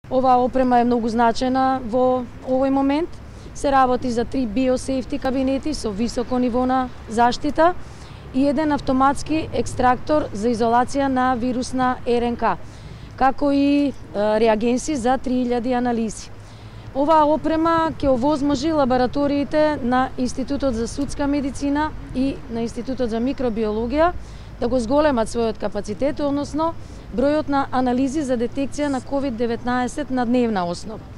Оваа опрема е многу значајна во овој момент. Се работи за 3 биосейфти кабинети со високо ниво на заштита и еден автоматски екстрактор за изолација на вирусна РНК, како и реагенси за 3000 анализи. Оваа опрема ќе овозможи лабораториите на Институтот за судска медицина и на Институтот за микробиологија да го зголемат својот капацитет, односно бројот на анализи за детекција на COVID-19 на дневна основа.